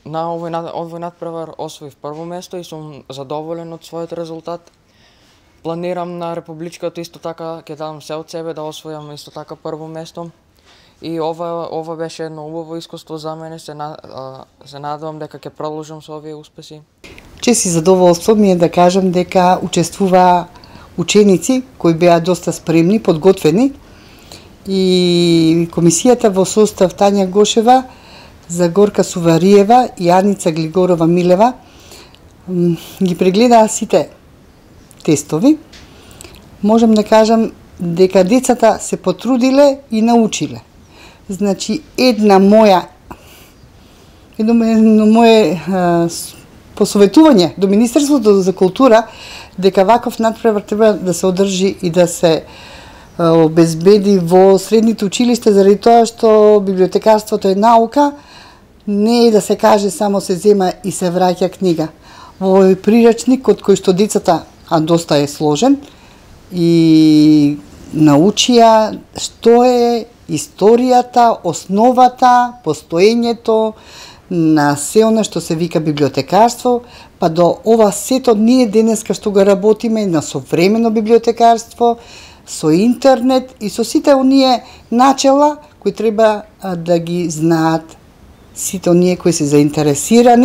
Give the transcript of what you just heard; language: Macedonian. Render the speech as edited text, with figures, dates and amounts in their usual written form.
На овој надпревар освоив прво место и сум задоволен од својот резултат. Планирам на републичкото исто така ќе дадам се од себе да освојам исто така прво место. И ова беше едно убаво искуство за мене, се надевам дека ќе продолжам со овие успеси. Чест и задоволство ми е да кажам дека учествуваа ученици кои беа доста спремни, подготвени, и комисијата во состав Тања Гошева, Загорка Сувариева и Аница Глигорова Милева ги прегледаа сите тестови. Можам да кажам дека децата се потрудиле и научиле. Значи, едно мое посоветување до Министерството за култура дека ваков надпревар треба да се одржи и да се обезбеди во средните училишта, заради тоа што библиотекарството е наука, не е да се каже само се зема и се враќа книга. Во овој прирачник од кој што децата, а доста е сложен, и научија што е историјата, основата, постоењето на се она што се вика библиотекарство, па до ова сето ние денеска што го работиме на современо библиотекарство, со интернет и со сите оние начела кои треба да ги знаат сите оние кои се заинтересирани.